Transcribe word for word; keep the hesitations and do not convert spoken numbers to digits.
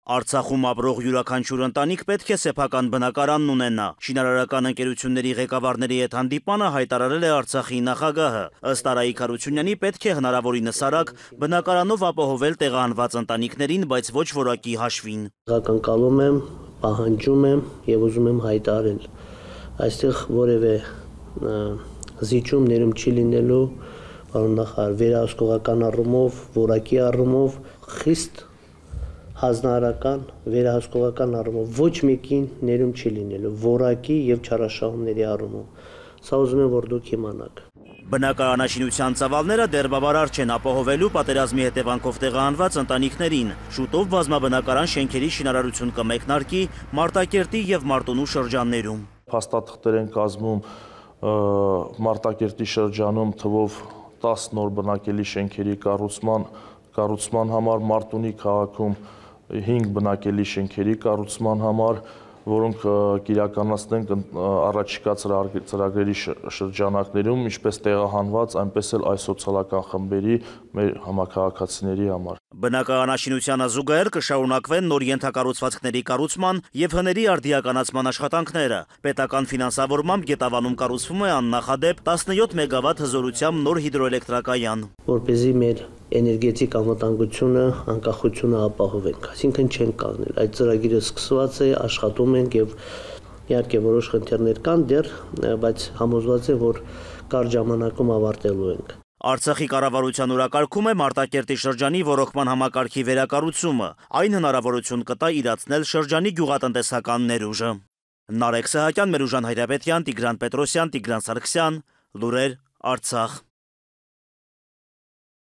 Արցախում ապրող յուրաքանչյուր ընտանիք պետք է սեփական բնակարանն ունենա։ Շինարարական ընկերությունների ղեկավարների հետ հանդիպանը հայտարարել է Արցախի նախագահը։ Ըստ Արայիկ Հարությունյանի պետք է հնարավորինս արագ բնակարանով ապահովել տեղահանված ընտանիքներին, բայց ոչ որակի հաշվին։ Ակնկալում եմ, պահանջում եմ եւ ուզում եմ հայտարարել, այստեղ որևէ զիջում ներում չի լինելու, պարոն նախարար, վերահսկողական առումով, որակի առումով խիստ հանձնարարական, վերահսկողական առումով ոչ մեկին ներում չի լինելու, որակի եւ չարաշահումների առումով։ Սա ուզում եմ, որ դուք իմանաք։ Բնակարանաշինության ծավալները դեռ բավարար չեն ապահովելու պատերազմի հետևանքով տեղահանված ընտանիքներին։ Շուտով բազմաբնակարան շենքերի շինարարություն կմեկնարկի Մարտակերտի եւ Մարտունու շրջաններում։ Փաստաթղթեր են կազմում Մարտակերտի շրջանում թվով տասը նոր բնակելի շենքերի կառուցման կառուցման համար, Մարտունի քաղաքում հինգ բնակելի շենքերի կառուցման համար, որոնք կիրականացնենք առաջիկա ծրագրերի շրջանակներում, ինչպես տեղահանված, այնպես էլ այլ սոցիալական խմբերի մեր համաքաղաքացիների համար։ Բնակարանաշինությանը զուգահեռ կշարունակվեն նոր ենթակառուցվածքների կառուցման եւ հների արդիականացման աշխատանքները։ Պետական ֆինանսավորմամբ Գետավանում կառուցվում է աննախադեպ տասնյոթ մեգավատ հզորությամբ նոր հիդրոէլեկտրակայան։ Որպեսզի մեր էներգետիկ անվտանգությունը, անկախությունը ապահովենք, այսինքն չենք կանգնել։ Այդ ծրագիրը սկսված է, աշխատում ենք եւ իհարկե որոշ խնդիրներ կան դեռ, բայց համոզված եմ, որ կարճ ժամանակում ավարտելու ենք։ Արցախի կառավարության օրակարգում է Մարտակերտի շրջանի ոռոգման համակարգի վերակառուցումը։ Այն հնարավորություն կտա իրացնել շրջանի գյուղատնտեսական ներուժը։ Նարեկ Սահակյան, Մերուժան Հայրապետյան, Տիգրան Պետրոսյան, Տիգրան Սարգսյան, Լուրեր, Արցախ։